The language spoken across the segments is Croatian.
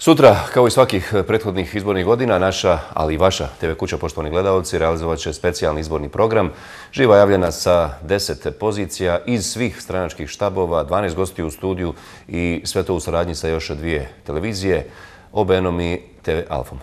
Sutra, kao i svakih prethodnih izbornih godina, naša, ali i vaša TV kuća, poštovani gledalci, realizovat će specijalni izborni program. Živa javljena sa 10 pozicija iz svih stranačkih štabova, 12 gostiju u studiju i sve to u saradnji sa još 2 televizije, OBN-om i TV Alfom.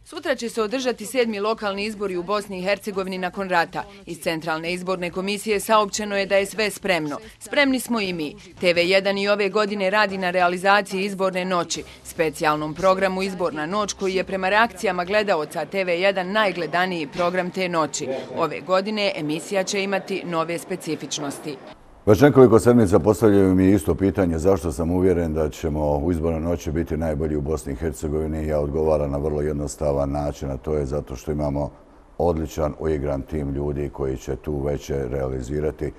Sutra će se održati 7. lokalni izbori u Bosni i Hercegovini nakon rata. Iz Centralne izborne komisije saopćeno je da je sve spremno. Spremni smo i mi. TV1 i ove godine radi na realizaciji izborne noći, specijalnom programu Izborna noć koji je prema reakcijama gledaoca TV1 najgledaniji program te noći. Ove godine emisija će imati nove specifičnosti. Već nekoliko sedmica postavljaju mi isto pitanje zašto sam uvjeren da ćemo u izbornoj noći biti najbolji u Bosni i Hercegovini. Ja odgovaram na vrlo jednostavan način, a to je zato što imamo odličan uigran tim ljudi koji će tu večer realizirati.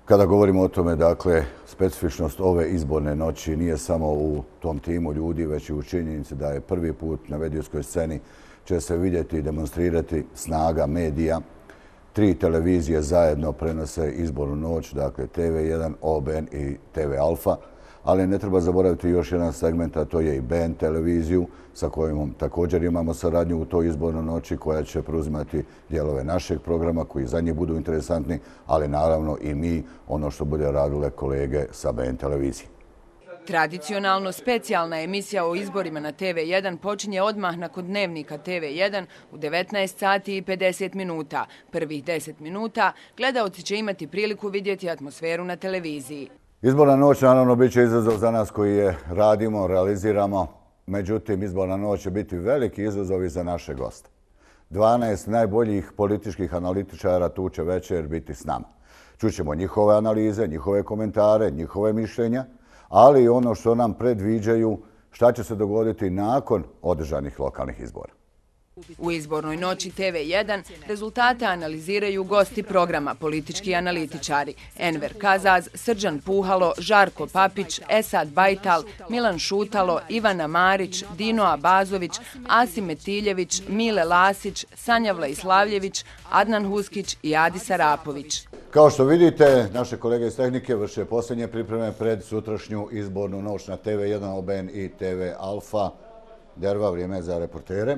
Kada govorimo o tome, dakle, specifičnost ove izborne noći nije samo u tom timu ljudi, već i u činjenici da je prvi put na medijskoj sceni će se vidjeti i demonstrirati snaga medija. 3 televizije zajedno prenose izbornu noć, dakle TV1, OBN i TV Alfa, ali ne treba zaboraviti još jedan segment, a to je i BN televiziju sa kojom također imamo saradnju u toj izbornoj noći koja će preuzimati dijelove našeg programa koji za njih budu interesantni, ali naravno i mi ono što bude radile kolege sa BN televizije. Tradicionalno specijalna emisija o izborima na TV1 počinje odmah nakon dnevnika TV1 u 19 sati i 50 minuta. Prvih 10 minuta gledaoci će imati priliku vidjeti atmosferu na televiziji. Izborna noć naravno bit će izazov za nas koji je radimo, realiziramo. Međutim, izborna noć će biti veliki izazov i za naše goste. 12 najboljih političkih analitičara tu će večer biti s nama. Čućemo njihove analize, njihove komentare, njihove mišljenja, ali i ono što nam predviđaju šta će se dogoditi nakon održanih lokalnih izbora. U izbornoj noći TV1 rezultate analiziraju gosti programa, politički analitičari Enver Kazaz, Srđan Puhalo, Žarko Papić, Esad Bajtal, Milan Šutalo, Ivana Marić, Dino Abazović, Asim Metiljević, Mile Lasić, Sanja Vlaislavljević, Adnan Huskić i Adi Sarapović. Kao što vidite, naše kolege iz tehnike vrše posljednje pripreme pred sutrašnju izbornu noć na TV1, OBN i TV Alfa. Derva, vrijeme je za reportere.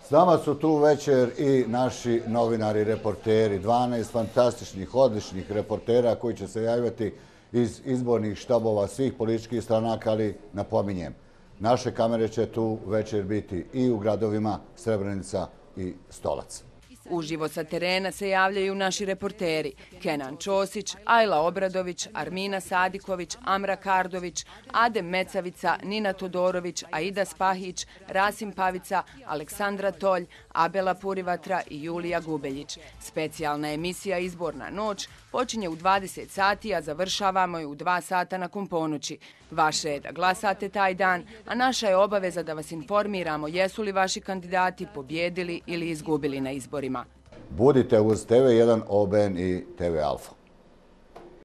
S nama su tu večer i naši novinari, reporteri, 12 fantastičnih, odličnih reportera koji će se javljati iz izbornih štabova svih političkih stranaka, ali napominjem, naše kamere će tu večer biti i u gradovima Srebrenica i Stolac. Uživo sa terena se javljaju naši reporteri Kenan Ćosić, Ajla Obradović, Armina Sadiković, Amra Kardović, Adem Mecavica, Nina Todorović, Aida Spahić, Rasim Pavica, Aleksandra Tolj, Abela Purivatra i Julija Gubeljić. Specijalna emisija Izborna noć počinje u 20 sati, a završavamo je u 2 sata nakon ponoći. Vaše je da glasate taj dan, a naša je obaveza da vas informiramo jesu li vaši kandidati pobjedili ili izgubili na izborima. Budite uz TV1, OBN i TV Alfa.